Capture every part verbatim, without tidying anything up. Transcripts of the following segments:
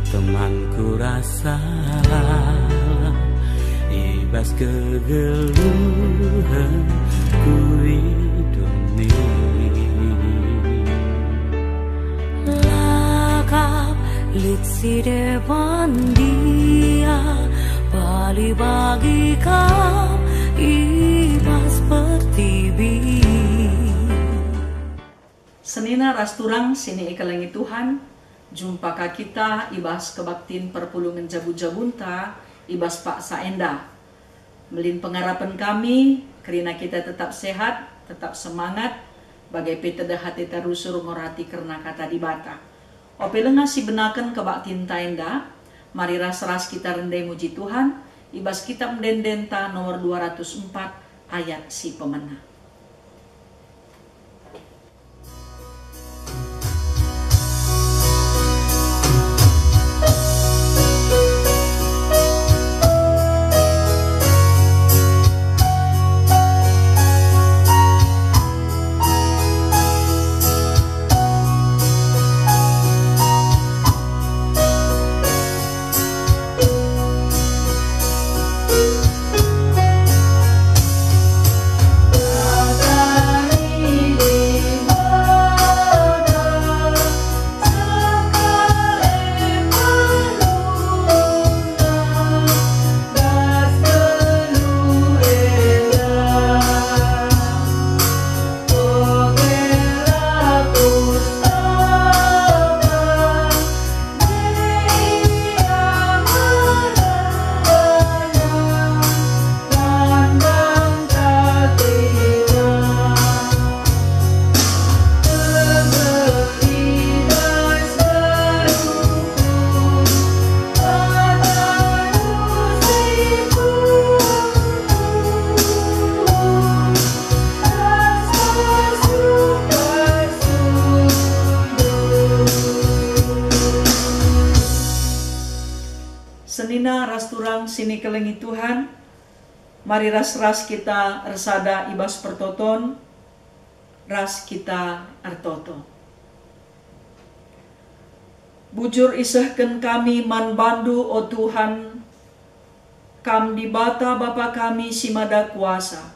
Temanku rasa i bas kegeluhenku i doni. La kap lit si deban Dia, bali bagi kap i bas pertibi. Senina ras turang si nikelengi Tuhan, jumpa ka kita i bas kebaktin perpulungen jabu-jabunta i bas paksa enda. Melin pengarapen kami, kerina kita tetap sehat, tetap semangat, bage pe tedeh ateta rusur ngorati kerna Kata Dibata. Ope langa sibenaken kebaktinta enda, mari ras-ras kita rende muji Tuhan i bas Kitab Ende-endenta nomor dua ratus empat, ayat si pemena. Senina ras turang si nikelengi Tuhan, mari ras-ras kita ersada i bas pertoton, ras kita ertoto. Bujur isehken kami man bandu, o Tuhan, Kam Dibata Bapa kami si Mada Kuasa.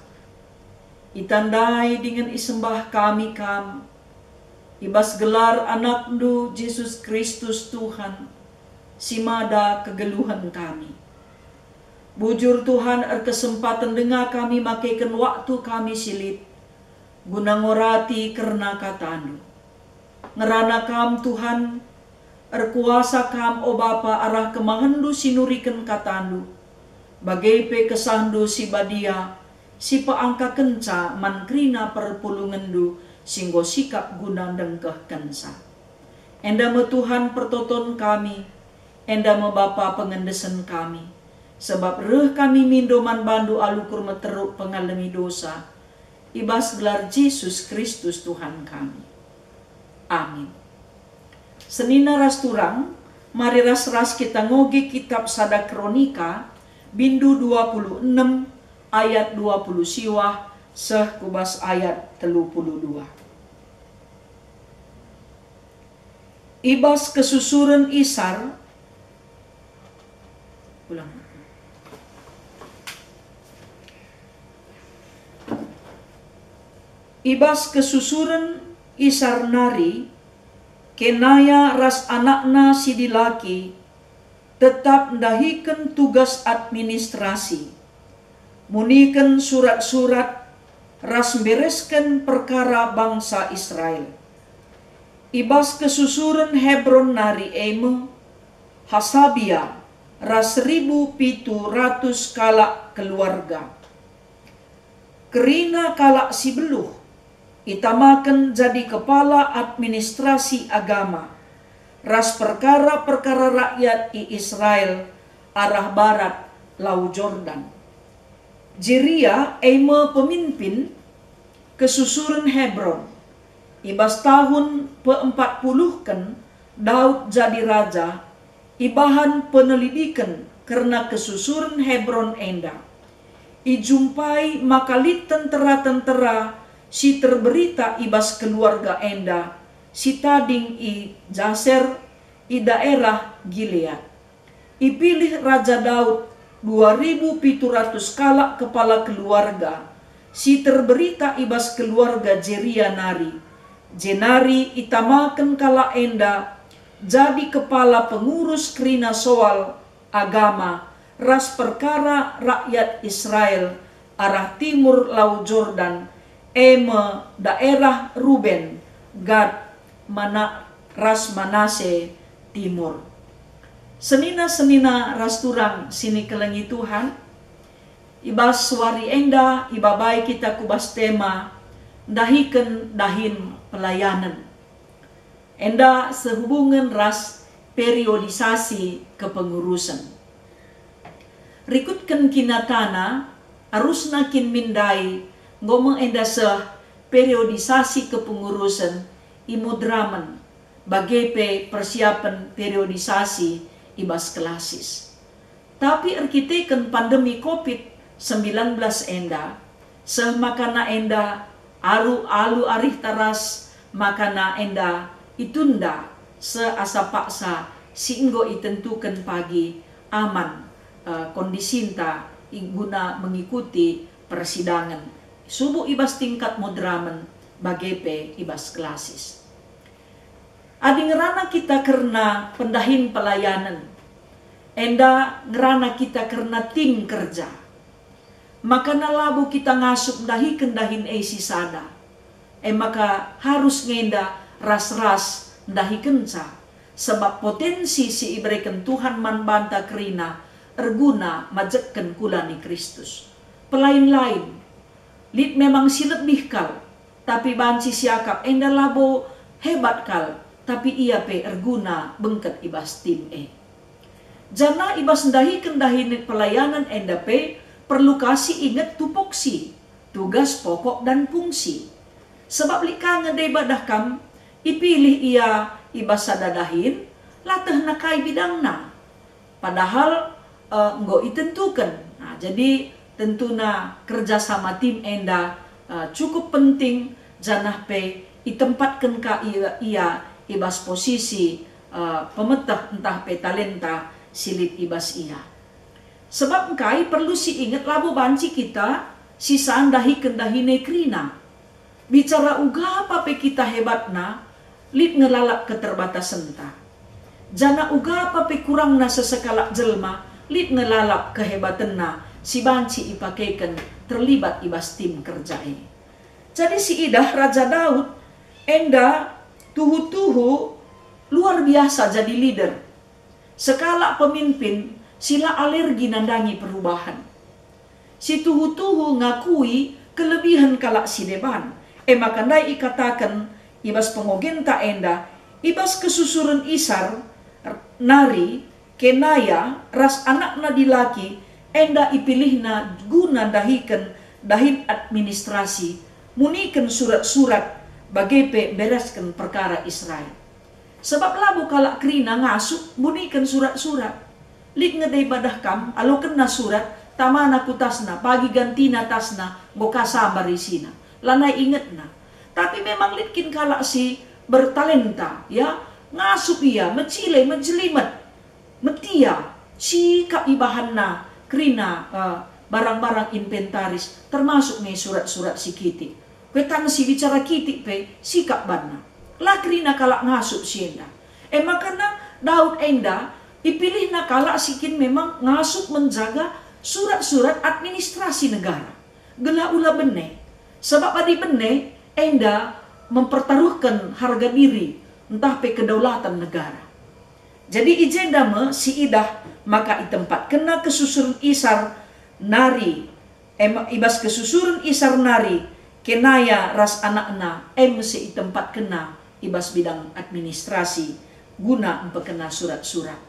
Itandai dingen isembah kami Kam i bas gelar AnakNdu Jesus Kristus Tuhan, si mada kegeluhen kami. Bujur Tuhan, erkesempaten denga kami makeken waktu kami si lit guna ngorati kerna KataNdu. Ngerana Kam, Tuhan, erkuasa Kam, o Bapa, arah kemahenNdu si nuriken KataNdu, bage pe KesahNdu si Badia, si peangkakenca man kerina perpulungenNdu si enggo sikap guna ndengkehkenca. Enda me, Tuhan, pertoton kami, enda me, Bapa, pengendesen kami, sabap reh kami mindo man bandu alu kurmeteruk pengalemi dosa, i bas gelar Jesus Kristus Tuhan kami. Amin. Senina ras turang, mari ras-ras kita ngoge kitab Sada Kronika, bindu dua puluh enem, ayat dua puluh siwah seh ku bas ayat telu puluh dua. I bas kesusuren Isar, ulang. I bas kesusuren Isar nari, Kenaya ras anakna si dilaki tetap ndahiken tugas administrasi, muniken surat-surat ras mberesken perkara bangsa Israel. I bas kesusuren Hebron nari e me, Hasabia ras seribu pitu ratus kalak keluarga. Kerina kalak si beluh itamaken jadi kepala administrasi agama ras perkara-perkara rakyat i Israel arah barat Lau Jordan. Jeria e me pemimpin kesusuren Hebron. I bas tahun peempat puluhken Daud jadi raja, ibahan penelidiken kerna kesusuren Hebron enda. Ijumpai maka lit tentera-tentera si terberita i bas keluarga enda, si tading i Jaser, i daerah Gilead. Ipilih Raja Daud dua ribu pitu ratus kalak kepala keluarga si terberita i bas keluarga Jeria nari, jenari itamaken kalak enda jadi kepala pengurus kerina soal agama ras perkara rakyat Israel arah timur Lau Jordan, e me daerah Ruben, Gad, Mana-, ras Manase Timur. Senina-senina ras turang si nikelengi Tuhan, i bas wari enda ibabai kita ku bas tema ndahiken dahin pelayanen. Enda sehubungen ras periodisasi kepengurusen. Rikutken kinatana, arusna kin min ndai enggo me enda seh periodisasi kepengurusen i Madramen, bage pe persiapen periodisasi i bas klasis. Tapi erkiteken pandemi covid sembilan belas enda, seh makana enda alu-alu arihta ras makana enda itunda seh asa paksa si enggo itentuken pagi aman, eh, kondisinta i guna mengikuti persidangen, subuk i bas tingkat Madramen, bage pe i bas klasis. Adi ngerana kita kerna pendahin pelayanen, enda ngerana kita kerna tim kerja. Makana labo kita ngasup ndahiken dahin e sisada, e maka harus nge enda ras-ras ndahikenca, sabap potensi si ibereken Tuhan man banta kerina erguna majekken kula ni Kristus. Pelain-lain, lit memang si lebih kal, tapi banci siakap enda labo hebat kal, tapi ia pe erguna bengket i bas tim e. Janah i bas ndahiken dahin pelayanen enda pe perlu ka si inget tupoksi, tugas pokok dan fungsi. Sebab lit ka nge deba dah kam ipilih ia i bas sada dahin, la tehna kai bidangna. Padahal, eh, enggo itentuken. Nah, jadi tentuna kerja sama tim enda, eh, cukup penting, janah pe itempatken ka ia, ia i bas posisi, eh, pemeteh ntah pe talenta si lit i bas ia. Sebab engkai perlu si inget labo banci kita sisa ndahiken dahin e kerina. Bicara uga pa pe kita hebatna, lit nge lalap keterbatasenta. Janah uga pa pe kurangna sesekalak jelma, lit nge lalap kehebatenna si banci ipakeken terlibat i bas tim kerja e. Jadi si idah Raja Daud enda tuhu-tuhu luar biasa jadi leader. Sekalak pemimpin si la alergi nandangi perubahan. Si tuhu-tuhu ngakui kelebihen kalak si deban. E maka ndai ikataken i bas pengogenta enda, i bas kesusuren Isar nari, Kenaya ras anakna dilaki enda ipilihna guna ndahiken dahin administrasi, muniken surat-surat, bage pe mberesken perkara Israel. Sebab labo kalak kerina ngasup mbuniken surat-surat. Lit nge deba dah kam alokenna surat, tamana ku tasna, pagi gantina tasna, enggo ka sambar isina. Lanai ingetna. Tapi memang lit kin kalak si bertalenta, ya, ngasup ia, mecile, mejelimet, metia, sikap ibahanna kerina, eh, barang-barang inventaris, termasuk nge surat-surat si kitik. Kuetang si bicara kitik pe sikap banna. La kerina kalak ngasup si enda. E maka Daud enda ipilihna kalak si kin memang ngasup menjaga surat-surat administrasi negara, gelah ula bene. Sebab adi bene, enda mempertaruhken harga diri ntah pe kedaulatan negara. Jadi i jenda me si idah maka itempatkenna kesusuren Isar nari, em, i bas kesusuren Isar nari, Kenaya ras anakna, em si itempatkenna i bas bidang administrasi guna empekena surat-surat.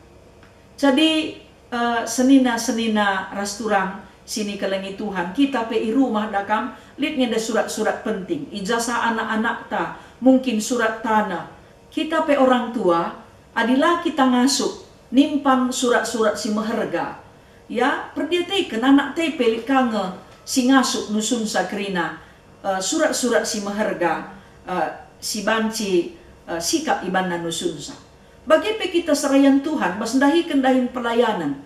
Jadi, eh, senina-senina ras turang si nikelengi Tuhan, kita pe i rumah dah kam lit nge enda surat-surat penting, ijazah anak-anakta, mungkin surat tanah. Kita pe orang tua, adi la kita ngasup nimpang surat-surat si meherga, ya, perdiateken anak te pe lit ka nge si ngasup nusunsa kerina, eh, surat-surat si meherga, eh, si banci, eh, sikap ibanna nusunsa. Bage pe kita serayan Tuhan bas ndahiken dahin pelayanen,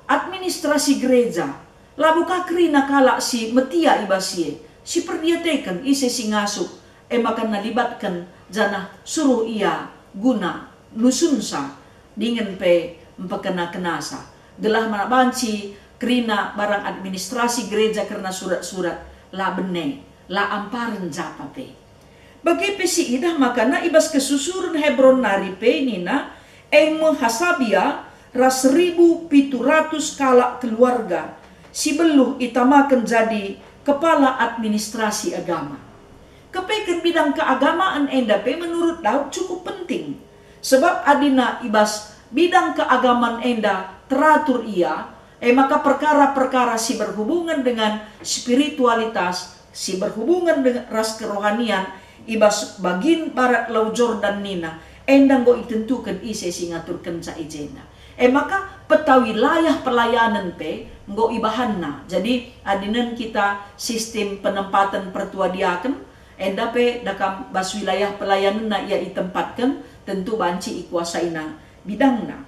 administrasi gereja, labo ka kerina kalak si metia i bas si e, si perdiateken ise si ngasup, e maka nalibatken janah suruh ia guna nusunsa dingen pe mpekena-kenasa, gelah mana banci kerina barang administrasi gereja kerna surat-surat la bene, la amparen japa pe. Bage pe siidah makana i bas kesusuren Hebron nari pe nina, e me Hasabia ras seribu pitu ratus kalak keluarga si beluh itamaken jadi kepala administrasi agama. Kepeken bidang keagamaan enda pe menurut Daud cukup penting, sebab adina i bas bidang keagamaan enda teratur ia, e maka perkara-perkara si berhubungan dengan spiritualitas, si berhubungan dengan ras kerohanian i bas bagin barat Lau Jordan nina, enda enggo itentuken ise si ngaturkenca i jenda. E maka peta wilayah pelayanen pe enggo ibahanna. Jadi, adinen kita sistem penempaten pertua diaken, enda pe dakam bas wilayah pelayanenna ia itempatken, tentu banci ikuasaina bidangna.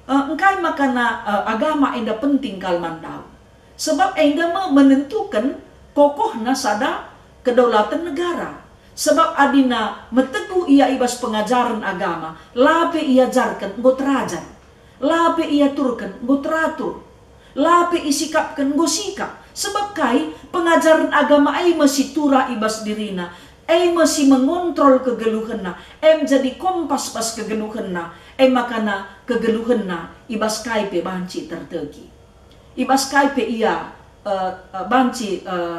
Eh, engkai makana, eh, agama enda penting kal man Daud? Sebab enda me menentuken kokohna sada kedaulatan negara. Sebab adina meteguh ia i bas pengajaren agama, la pe iajarken enggo terajar, la pe iaturken enggo teratur, la pe isikapken enggo sikap. Sebab kai? Pengajaren agama e me si turah i bas dirina, e me si mengontrol kegeluhenna, e me jadi kompas bas kegeluhenna, e makana kegeluhenna i bas kai pe banci tertegi. I bas kai pe ia, eh, eh, banci, eh,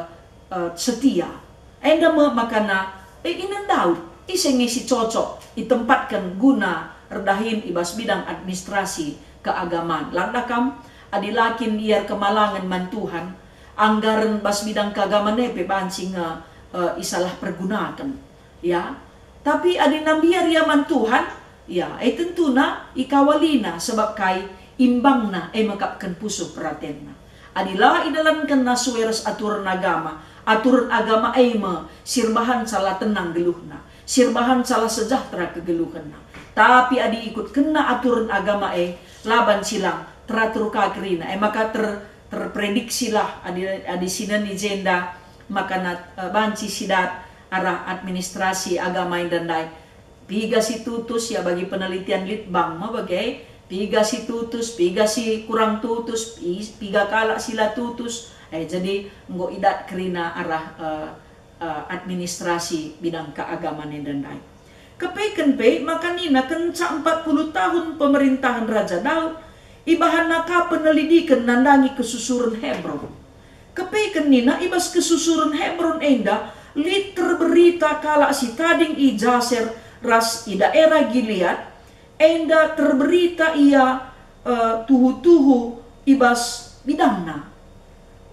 eh, setia. Enda me makana, eh, inen Daud, ise nge si cocok itempatken guna erdahin i bas bidang administrasi keagaman. Landa kam, adi la kin ia erkemalangen man Tuhan, anggaren bas bidang keagaman e pe banci nge, eh, isalah pergunaken. Ya, tapi adi nambiar ia man Tuhan, ya, e tentuna ikawalina, sebab kai? Imbangna e mekapken pusuh peratenna. Adi la idalankenna sue ras aturen agama, aturen agama e me si erbahanca la tenang geluhna, si erbahanca la sejahtera kegeluhenna. Tapi adi ikutkenna aturen agama e, la banci lang teratur ka kerina, e maka ter-, terprediksilah adi, adi sinen i jenda, maka na, eh, banci sidat arah administrasi agama enda ndai. Piga si tutus, ya, bagi penelitian Litbang me bage, piga si tutus, piga si kurang tutus, pi-, piga kalak si la tutus. Eh, jadi enggo idat kerina arah, eh, eh, administrasi bidang keagaman enda ndai. Kepeken pe maka nina kenca empat puluh tahun pemerintahen Raja Daud, ibahanna ka penelidiken nandangi kesusuren Hebron. Kepeken nina i bas kesusuren Hebron enda lit terberita kalak si tading i Jaser ras i daerah Gilead, enda terberita ia, eh, tuhu-tuhu i bas bidangna.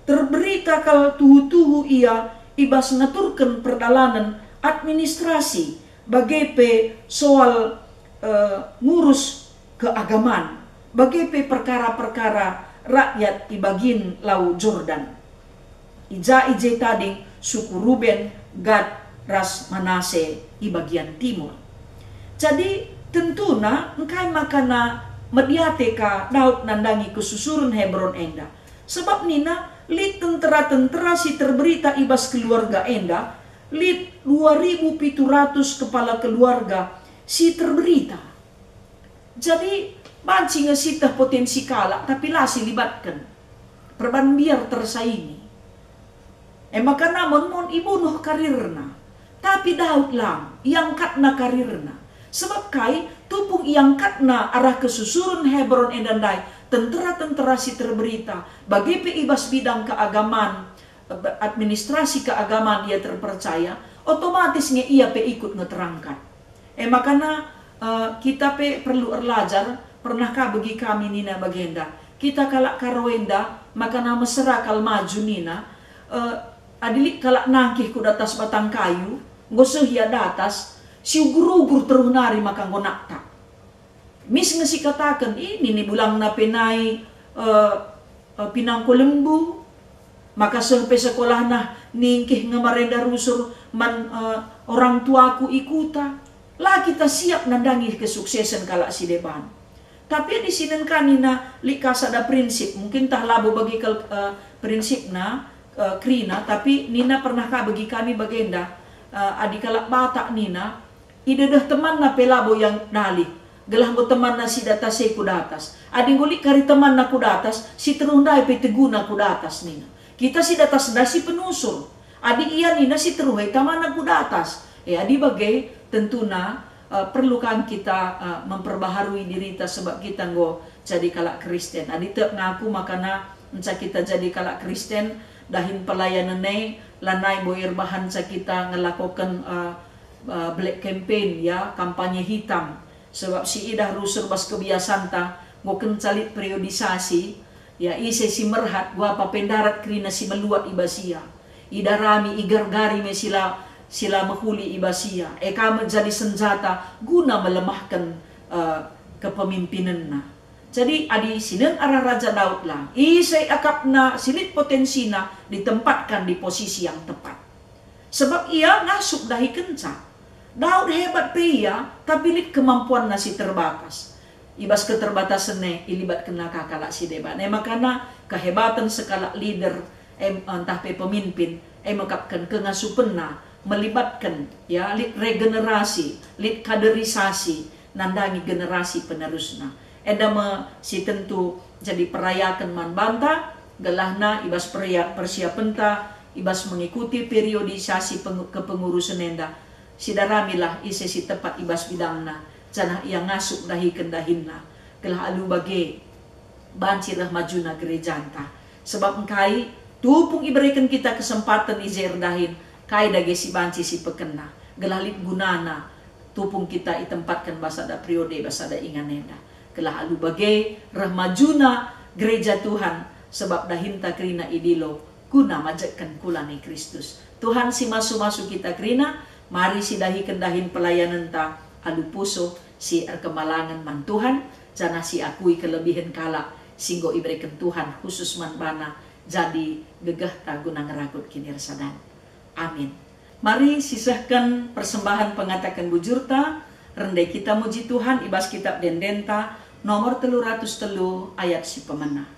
Terberita kal tuhu-tuhu ia i bas ngaturken perdalanen administrasi, bage pe soal, eh, ngurus keagaman, bage pe perkara-perkara rakyat i bagin Lau Jordan. I ja i je tading suku Ruben, Gad, ras Manase i bagian timur. Jadi, tentuna engkai makana mediate ka Daud nandangi kesusuren Hebron enda? Sebab nina, lit tentera-tentera si terberita i bas keluarga enda, lit dua ribu pitu ratus kepala keluarga si terberita. Jadi, banci nge sieteh potensi kalak, tapi la silibatken. Perban mbiar tersaingi. E maka namon-mon ibunuh karirna. Tapi Daud lang, iangkatna karirna. Sebab kai? Tupung iangkatna arah kesusuren Hebron enda ndai, tentera-tentera si terberita, bage pe i bas bidang keagaman, administrasi keagaman ia terpercaya, otomatis nge ia pe ikut nge terangkat. E makana, eh, kita pe perlu erlajar, pernah ka begi kami nina bagenda. Kita kalak Karo enda, makana mesera kal maju nina, eh, adi lit kalak nangkih ku datas batang kayu, enggo seh ia datas, si ugur-ugur teruh nari maka enggo naktak. Mis nge sikataken, "Ih, nini bulangna pe nai, eh, eh, pinangko lembu, maka seh pe sekolahna ningkih nge marenda rusur man, eh, orang tuaku i kuta." La kita siap nandangi kesuksesen kalak si deban. Tapi adi sinen ka nina lit ka sada prinsip, mungkin tah labo bagi kal-, eh, prinsipna, eh, kerina, tapi nina pernah ka bagi kami bagenda, eh, adi kalak Batak nina, idedeh temanna pe labo ia dalih, gelah enggo temanna si datas e ku datas. Adi enggo lit kari temanna ku datas, si teruh ndai pe teguna ku datas nina. Kita si datas ndai si penusur. Adi ia nina si teruh e tamana ku datas. E, adi bage, tentuna, eh, perlu kan kita, eh, memperbaharui dirita sebab kita enggo jadi kalak Kristen. Adi tek ngaku makana enca kita jadi kalak Kristen, dahin pelayanen e lanai bo erbahanca kita ngelakoken, eh, eh, black campaign, ya, kampanye hitam. Sebab si idah rusur bas kebiasanta, enggo kenca lit periodisasi, ya, ise si merhat, guapa pe ndarat kerina si meluat i bas ia. Idarami, igargari me si la, si la mehuli i bas ia. E ka me jadi senjata guna melemahken, eh, kepemimpinenna. Jadi, adi sinen arah Raja Daud lang, ise akapna si lit potensina ditempatkan di posisi yang tepat. Sebab ia ngasup dahikenca. Daud hebat pe ia, tapi lit kemampuanna si terbatas. I bas keterbatasen e, ilibatkenna ka kalak si deban. E makana kehebaten sekalak leader, em, ntah pe pemimpin, e mekapken kengasupenna, melibatken, ya, lit regenerasi, lit kaderisasi, nandangi generasi penerusna. Enda me si tentu jadi perayaken man banta, gelahna i bas peria-, persiapenta, i bas mengikuti periodisasi pengu-, kepengurusen enda. Sidaramilah ise si tepat i bas bidangna, janah ia ngasup dahiken dahinna, gelah alu bage banci reh majuna gerejanta. Sebab engkai tupung ibereken kita kesempaten i je erdahin, kai dage si banci sipekena, gelah lit gunana tupung kita itempatken bas sada periode, bas sada ingan enda. Gelah alu bage reh majuna gereja Tuhan, sebab dahinta kerina idilo guna majekken kula ni Kristus. Tuhan si masu-masu kita kerina, mari sidahiken dahin pelayanenta alu pusuh si erkemalangen man Tuhan, janah siakui kelebihen kalak si enggo ibereken Tuhan khusus man bana jadi gegehta guna ngeragut kinirasadan. Amin. Mari sisehken persembahen pengataken bujurta, rende kita muji Tuhan i bas kitab ende-endenta nomor telu ratus telu ayat si pemena.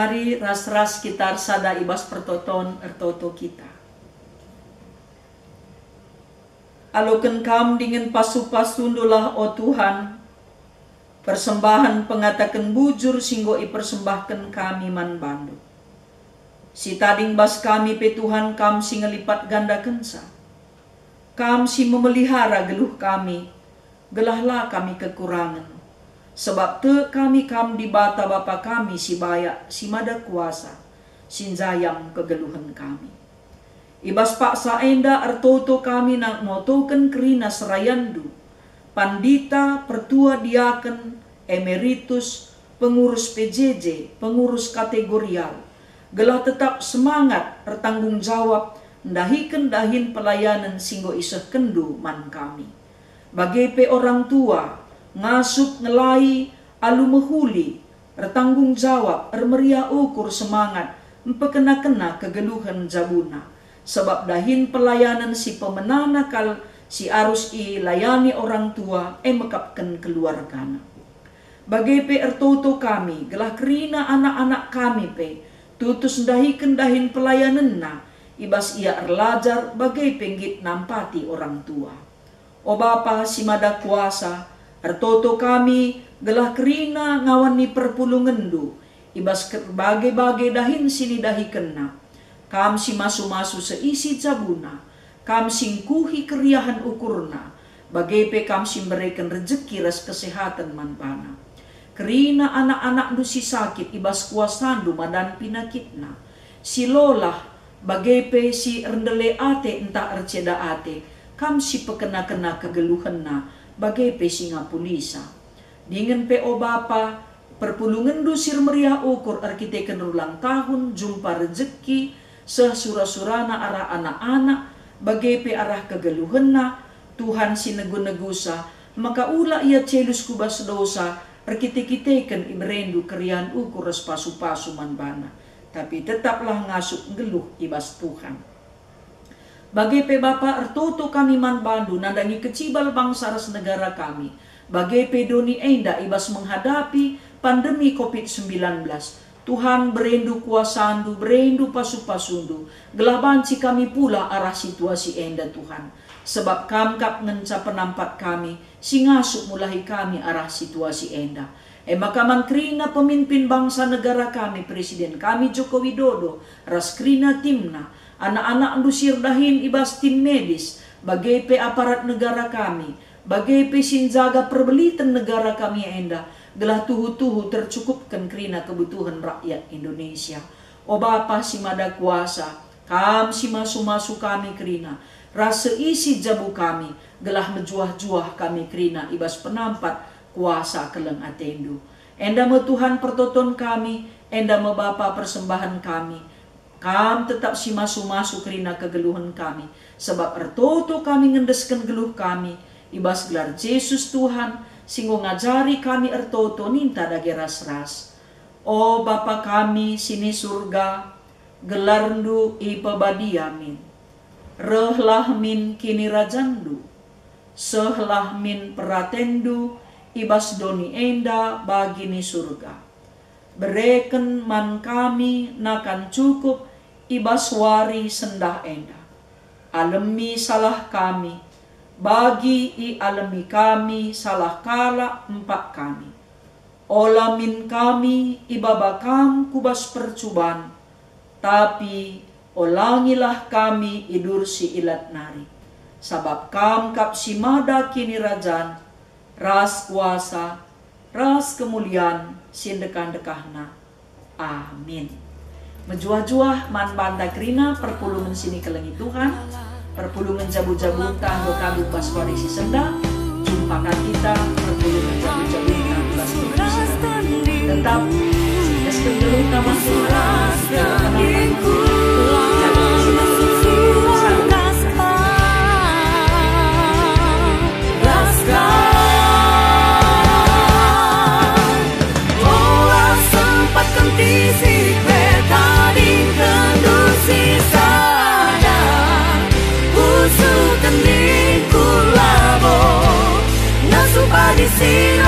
Mari ras-ras kita ersada i bas pertoton ertoto kita. Aloken Kam dingen pasu-pasundulah, o Tuhan, persembahen pengataken bujur si enggo ipersembahken kami man bandu. Si tading bas kami pe, Tuhan, Kam si ngelipat gandakenca. Kam si memelihara geluh kami, gelah la kami kekurangen. Sebab tek kami Kam Dibata Bapa kami si bayak, si mada kuasa, si njayang kegeluhen kami. I bas paksa enda ertoto kami na-, notoken kerina serayanNdu, pandita, pertua, diaken, emeritus, pengurus P J J, pengurus kategorial, gelah tetap semangat ertanggung jawab ndahiken dahin pelayanen si enggo isehkenNdu man kami. Bage pe orang tua, ngasup, ngelai, Alu mehuli, ertanggung jawab, ermeriah ukur semangat, mpekena-kena kegeluhen jabuna. Sebab dahin pelayanen si pemenana kal si arus ilayani orang tua, e mekapken keluargana. Bage pe ertoto kami, gelah kerina anak-anak kami pe tutus ndahiken dahin pelayanenna, i bas ia erlajar bage pe nggit nampati orang tua. O Bapa si Mada Kuasa, ertoto kami gelah kerina ngawan ni perpulungenNdu i bas ke-, bage-bage dahin si nidahikenna. Kam si masu-masu seisi jabuna, Kam si ngkuhi keriahen ukurna, bage pe Kam si mbereken rejeki ras kesehaten man bana. Kerina anak-anakNdu si sakit i bas kuasaNdu madan pinakitna. Si lolah, bage pe si erndele ate ntah erceda ate, Kam si pekena-kena kegeluhenna, bage pe si ngapulisa. Dingen pe, o Bapa, perpulungenNdu si ermeriah ukur erkiteken ulang tahun, jumpa rejeki, seh sura-surana arah anak-anak, bage pe arah kegeluhenna, Tuhan si negu-negusa, maka ula ia celus ku bas dosa, erkite-kiteken ibereNdu keriahen ukur ras pasu-pasu man bana. Tapi tetaplah ngasup nggeluh i bas Tuhan. Bage pe Bapa, ertoto kami man baNdu nandangi kecibal bangsa ras negara kami, bage pe doni enda i bas menghadapi pandemi covid sembilan belas. Tuhan, bereNdu kuasaNdu, bereNdu pasu-pasuNdu, gelah banci kami pulah arah situasi enda, Tuhan. Sebab Kam kap ngenca penampat kami, si ngasup mulahi kami arah situasi enda. E maka man kerina pemimpin bangsa negara kami, Presiden kami Joko Widodo, ras kerina timna, anak-anakNdu si erdahin i bas tim medis, bage pe aparat negara kami, bage pe si njaga perbeliten negara kami enda, gelah tuhu-tuhu tercukupken kerina kebutuhen rakyat Indonesia. O Bapa si Mada Kuasa, Kam si masu-masu kami kerina, ras seisi jabu kami, gelah mejuah-juah kami kerina i bas penampat kuasa keleng ateNdu. Enda me Tuhan pertoton kami, enda me Bapa persembahen kami. Kam tetap si masu-masu kerina kegeluhen kami, sebab ertoto kami ngendesken geluh kami, i bas gelar Jesus Tuhan, si enggo ngajari kami ertoto ninta dage ras-ras. O Bapa kami si ni Surga, gelarNdu ipebadia min. Rehlah min kinirajanNdu. Sehlah min peratenNdu i bas doni enda bagi ni Surga. Bereken man kami nakan cukup i bas wari sendah enda. Alemi salah kami, bagi ialemi kami salah kalak empak kami. Ola min kami ibaba Kam ku bas percuban, tapi olangilah kami i bas si ilat nari. Sabap Kam kap si mada kinirajan, ras kuasa, ras kemulian si ndekah-ndekahna. Amin. Mejuah-juah man banta kerina perpulungen si nikelengi Tuhan, perpulungen jabu-jabunta enggo kami bas wari si sendah. Jumpa ka kita perpulungen jabu-jabunta bas wari si sendah. Tetap sukses kegeluhta man Tuhan. Ola sempat kentisik pe tadingkenndu si sada. Pusuh kendingku labo ngasup padi si